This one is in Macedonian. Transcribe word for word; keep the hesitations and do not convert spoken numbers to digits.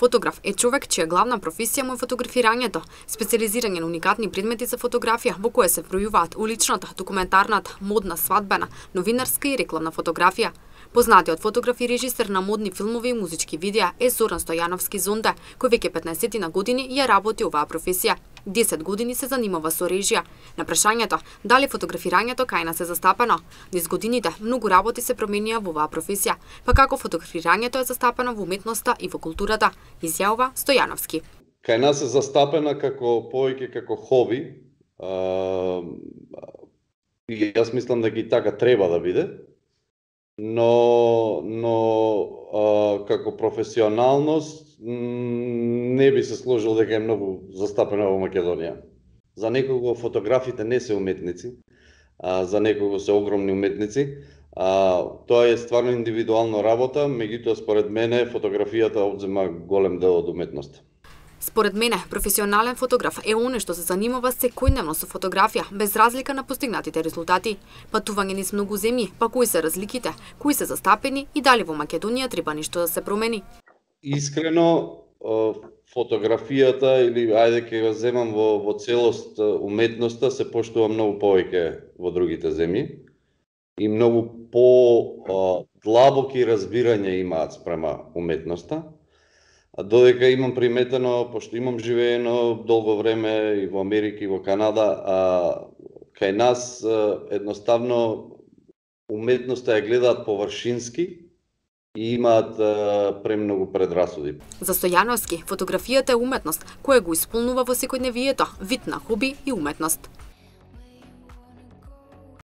Фотограф е човек чија главна професија му е фотографирањето, специализирање на уникатни предмети за фотографија во кои се вбројуваат уличната, документарната, модна, свадбена, новинарска и рекламна фотографија. Познатиот фотограф и режисер на модни филмови и музички видеа е Зоран Стојановски Зонде, кој веќе петнаесет на години ја работи оваа професија. десет години се занимава со режија. На прашањето дали фотографирањето кај нас е застапено, низ годините многу работи се променија во оваа професија, па како фотографирањето е застапено во уметноста и во културата, изјавува Стојановски. Кај нас е застапена како повеќе како хоби. А, и јас мислам дека и така треба да биде. Но, но а, како професионалност не би се сложил дека е многу застапена во Македонија. За некого фотографите не се уметници, а за некого се огромни уметници. А, тоа е стварно индивидуална работа, меѓутоа според мене фотографијата одзема голем дел од уметноста. Според мене, професионален фотограф е оној што се занимава секојдневно со фотографија, без разлика на постигнатите резултати. Патување низ многу земји, па кои се разликите, кои се застапени и дали во Македонија треба нешто да се промени? Искрено, фотографијата, или ајде ќе го земам во, во целост уметноста, се поштува многу повеќе во другите земји и многу по длабоки разбирање имаат спрема уметноста. Додека имам приметено, пошто имам живеено долго време и во Америка и во Канада, а кај нас едноставно уметноста ја гледаат површински и имаат премногу предрасуди. За Стојановски, фотографијата е уметност која го исполнува во секојдневието, вид на хоби и уметност.